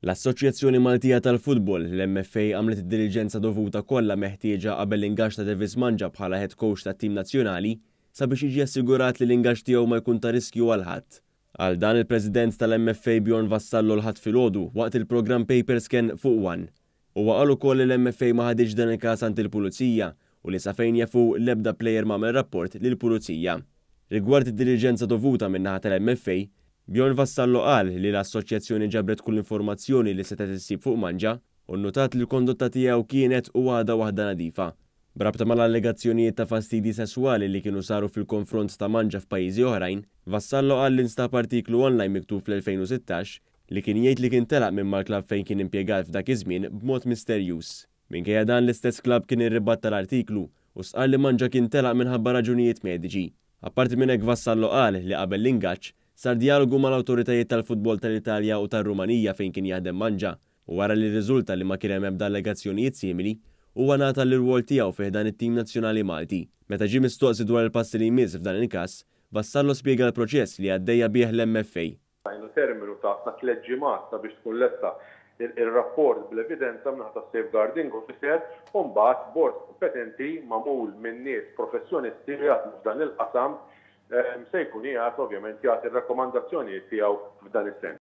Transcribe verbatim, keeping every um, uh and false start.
L-Assoċjazzjoni Maltija tal-Futbol, l-M F A, għamlet id-diligenza dovuta kollha meħtieġa qabel l-ingaġġ ta' Devis Mangia bħala head coach tat-tim nazzjonali sabiex jiġi assigurat li l-ingaġġ tiegħu ma jkun ta' riskju għal ħadd. Qal dan il-President tal-M F A Bjorn Vassallo l-Ħadd filgħodu waqt il-programm Paper Scan fuq One. Huwa qal ukoll li l-M F A ma ħaditx dan il-każ għand il-pulizija u li sa fejn jafu l-ebda player m'għamel rapport lill-pulizija. Rigward id-diligenza dovuta min-naħa tal-M F A, Bjorn Vassallo qal li l-assoċjazzjoni ġabret kull informazzjoni li setgħet issib fuq Mangia u notat li l-kondotta tiegħu kienet u għadha waħda nadifa. B'rabta mal-allegazzjonijiet ta' fastidi sesswali li kienu saru fil-konfront ta' Mangia f'pajjiżi oħrajn, Vassallo qal li nstab artiklu online miktub fl-elfejn u sittax li kien jgħid li kien telaq minn mal-klab fejn kien impjegat f'dak iż-żmien b'mod misterjuż. Minkejja dan, l-istess klab kien irribatta l-artiklu u stqarr li Mangia kien telaq minħabba raġunijiet mediċi. Apparti minn hekk, Vassallo qal li qabel l-ingaġġ sar dialogu mal-awtoritajiet tal-futbol tal-Italja u tar-Rumanija fejn kien jaħdem Mangia u wara li rriżulta li ma kien hemm ebda allegazzjonijiet simili, huwa ngħata l-irwol tiegħu fi ħdan it-tim nazzjonali Malti. Meta ġie mistoqsi dwar il-passi li jmiss f'dan il-każ, Vassallo spjega l-proċess li għaddejja bih l-M F A. Tajna terminu ta' ta' tliet ġimgħat sabiex tkun lesta il-rapport bl-evidenza min-naħa ta' safeguarding officer u mbagħad bord kompetenti magħmul minn nies professjonisti li jaħdmu f'dan il-qasam se jkun qiegħed ovvjament jagħti r-rakkomandazzjonijiet tiegħu f'dan is-sens.